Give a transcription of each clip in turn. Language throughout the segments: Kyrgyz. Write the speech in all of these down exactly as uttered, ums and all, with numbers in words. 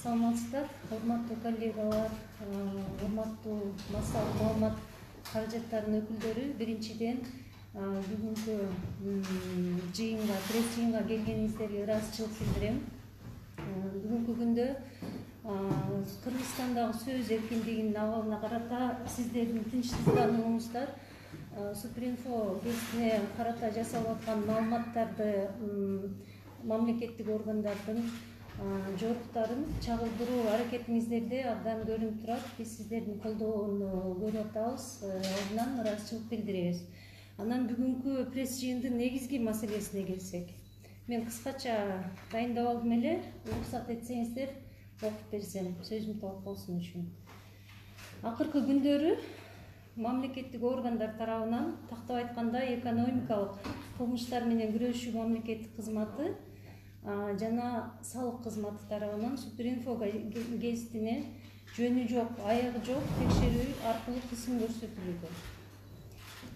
Саламатсыздар, урматтуу коллегалар, урматтуу массалык маалымат каражаттарынын өкүлдөрү. Биринчиден, бүгүнкү жыйынга, пресс жыйынга келгениңиздерге ыраазычылык билдирем. Бүгүнкү күндө Кыргызстандагы сөз эркиндигинин абалына карата сиздердин тынчсызданууңуздар Супринфо гезитине карата жасалып аткан маалыматтарды мамлекеттик органдардын жоруктарын чагылдыруу аракетиңиздерде абдан көрүнүп турат. Биз сиздердин колдоону көрүп атабыз, алдынан ыраазычылык билдиребиз. Анан бүгүнкү пресс жыйындын негизги маселесине келсек, мен кыскача дайындап алдым эле, уруксат этсеңиздер окуп берсем, сөзүм толук болсун үчүн. Акыркы күндөрү мамлекеттик органдар тарабынан, тактап айтканда, экономикалык кылмыштар менен күрөшүү мамлекеттик кызматы жана салык кызматы тарабынан Супринфо гезитине жөнү жок, аягы жок текшерүү аркылуу кысым көрсөтүлүүдө.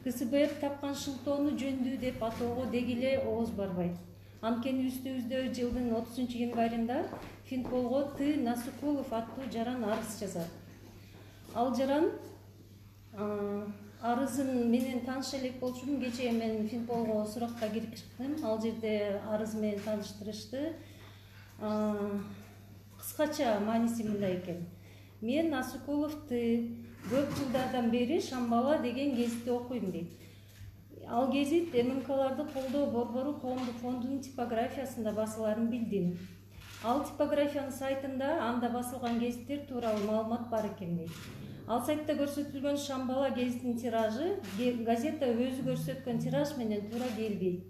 КСБР тапкан шылтоону жөндүү деп атоого деги эле ооз барбайт. Анткени үстүбүздө жылдын отузунчу январында Финполго Т. Насукулов аттуу жаран арыз жазат. Ал жаран арызын менен тааныша элек болчумун. Кечээ мен Финполго суракка кирип чыктым. Ал жерде арыз менен тааныштырышты. Кыскача мааниси мындай экен. Мен Насукуловду көп жылдардан бери Шамбала деген гезитти окуйм дейт. Ал гезит ММКларды колдоо борбору коомдук фондунун типографиясында басыларын билдим. Ал типографиянын сайтында анда басылган гезиттер тууралуу маалымат бар экен дейт. Ал сайтта көрсөтүлгөн Шамбала гезитинин тиражы газета өзү көрсөткөн тираж менен туура келбейт.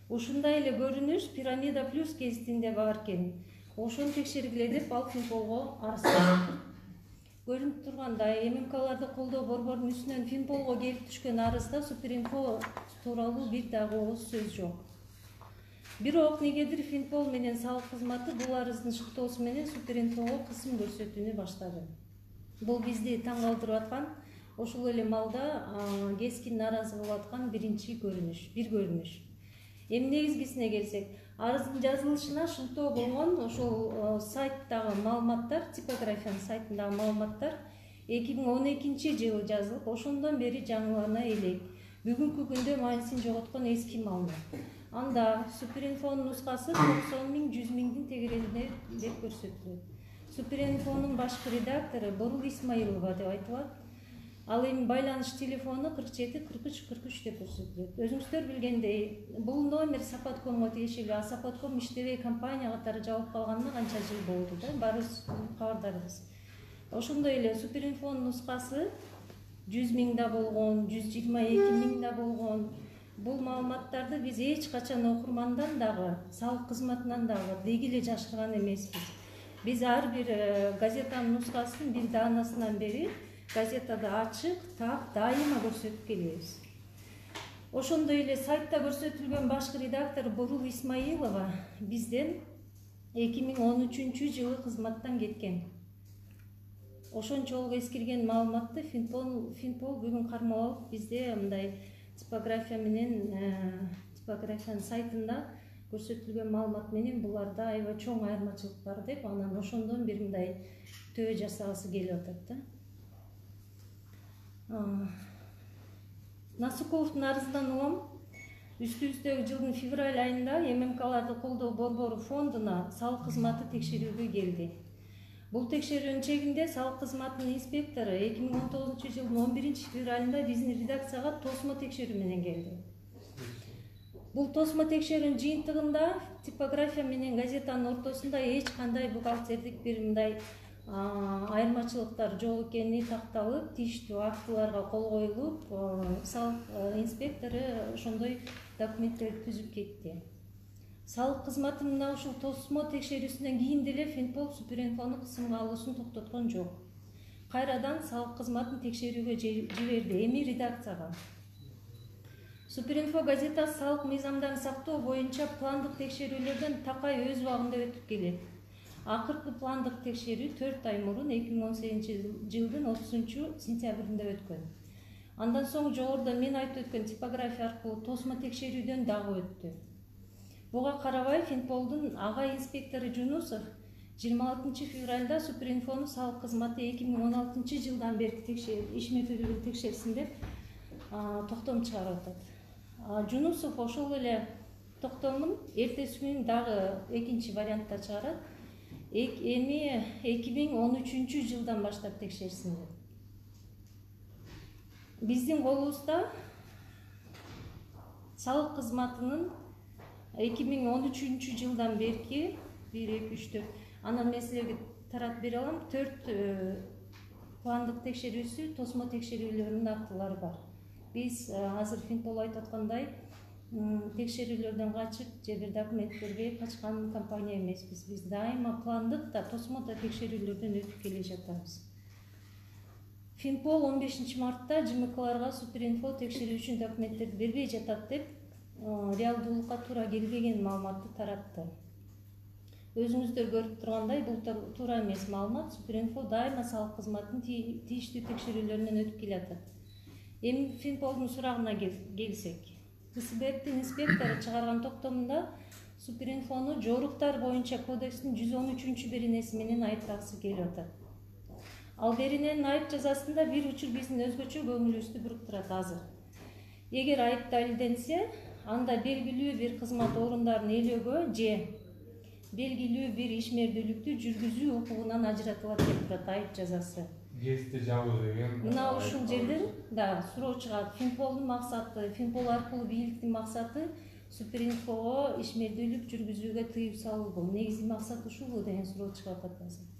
Ушундай эле көрүнүш Пирамида плюс гезитинде бар экен. Ошону текшергиле деп ал Финполго арыз жазды. Көрүнүп тургандай, ММКларды колдоо борборунун үстүнөн Финполго келип түшкөн арызда Супринфо тууралуу бир дагы ооз сөз жок. Бирок негедир Финпол менен салык кызматы бул арыздын шыктоосу менен Супринфого кысым көрсөтүүнү баштады. Бул бизди таң калтырып аткан, ошол эле малда кескин нааразы болуп аткан биринчи көрүнүш, бир көрүнүш. Эми негизгисине келсек, арыздын жазылышына шылтоо болгон ошол сайттагы маалыматтар, типографиянын сайтындагы маалыматтар эки миң он экинчи жылы жазылып, ошондон бери жаңылана элек. Бүгүнкү күндө маанисин жоготкон эски маалымат. Анда Супринфонун нускасы токсон миң жүз миңдин тегерегинде деп көрсөтүлөт. Супринфонун башкы редактору Борул Исмаилова деп айтылат. Ал эми байланыш телефону кырк жети кырк үч кырк үч деп көрсөтүлөт. Өзүңүздөр билгендей, бул номер Сапаткомго тиешелүү, а Сапатком иштебей компания катары жабылып калганына канча жыл болду да, баарыбыз кабардарбыз. Ошондой эле Супринфонун нускасы жүз миң да болгон, жүз жыйырма эки миң да болгон. Бул маалыматтарды биз эч качан окурмандан дагы, салык кызматынан дагы деги эле жашырган эмеспиз. Биз ар бир газетанын нускасын бир даанасынан бери газетада ачык, так, дайыма көрсөтүп келебиз. Ошондой эле сайтта көрсөтүлгөн башкы редактор Борул Исмаилова бизден эки миң он үчүнчү жылы кызматтан кеткен. Ошончолук эскирген маалыматты Финпол, Финпол бүгүн кармап алып бизде мындай типография менен типографиянын сайтында көрсөтүлгөн маалымат менен буларда аябай чоң айырмачылык бар деп, анан ошондон бир мындай төбө жасагысы келип атат да. Насукуловдун арызынан улам үстүбүздөгү жылдын февраль айында ММКларды колдоо борбору фондуна салык кызматы текшерүүгө келди. Бул текшерүүнүн чегинде салык кызматынын инспектору эки миң он тогузунчу жылдын он биринчи февралында биздин редакцияга тосмо текшерүү менен келди. Бул тосмо текшерүүнүн жыйынтыгында типография менен газетанын ортосунда эч кандай бухгалтердик бир мындай айырмачылыктар жок экени такталып, тийиштүү актыларга кол коюлуп, салык инспектору ошондой документтерди түзүп кетти. Салык кызматы мына ушул тосмо текшерүүсүнөн кийин деле Финпол Супринфону кысымга алуусун токтоткон жок. Кайрадан салык кызматын текшерүүгө жиберди, эми редакцияга. Супринфо газетасы салык мыйзамдарын сактоо боюнча пландык текшерүүлөрдөн такай өз убагында өтүп келет. Акыркы пландык текшерүү төрт ай мурун эки миң он сегизинчи жылдын отузунчу сентябрында өткөн. Андан соң жогоруда мен айтып өткөн типография аркылуу тосмо текшерүүдөн дагы өттү. Буга карабай Финполдун ага инспектору Жунусов жыйырма алтынчы февралда Суперинфонун салык кызматы эки миң он алтынчы жылдан берки ишмердүүлүгүн текшерсин деп токтом чыгарып атат. Жунусов ошол эле токтомун эртеси күнү дагы экинчи вариантта чыгарат. Эми эки миң он үчүнчү жылдан баштап текшерсин деп. Биздин колубузда салык кызматынын эки миң он үчүнчү жылдан берки бир эки үч төрт анан мен силерге таратып бере алам. төрт пландык текшерүүсү, тосмо текшерүүлөрүнүн актылары бар. Биз азыр Финпол айтып аткандай текшерүүлөрдөн качып же бир документтерге качкан компания эмеспиз. Биз дайыма пландык да, тосмо да текшерүүлөрдөн өтүп келе жатабыз. Финпол он бешинчи мартта ЖМКларга Суперинфо текшерүү үчүн документтерди бербей жатат деп реалдуулукка туура келбеген маалыматты таратты. Өзүңүздөр көрүп тургандай, бул туура эмес маалымат. Суперинфо дайыма салык кызматынын тийиштүү текшерүүлөрүнөн өтүп келатат. Эми Финполдун сурагына келсек, КСБктин инспектору чыгарган токтомунда Суперинфону жоруктар боюнча кодекстин жүз он үчүнчү беренеси менен айыптагысы келип атат. Ал берененин айып жазасында бир учур биздин өзгөчө көңүлүбүздү буруктурат азыр. Эгер айып далилденсе, анда белгилүү бир кызмат орундарын ээлөөгө же белгилүү бир ишмердүүлүктү жүргүзүү укугунан ажыратылат деп турат айып жазасы. ГЭСти жабуу деген. Мына ушул жерден да суроо чыгат. Финполдун максаты, Финпол аркылуу бийликтин максаты Суперинфого ишмердүүлүк жүргүзүүгө тыюу салуу. Негизи максат ушулбу деген суроо чыгып атат азыр.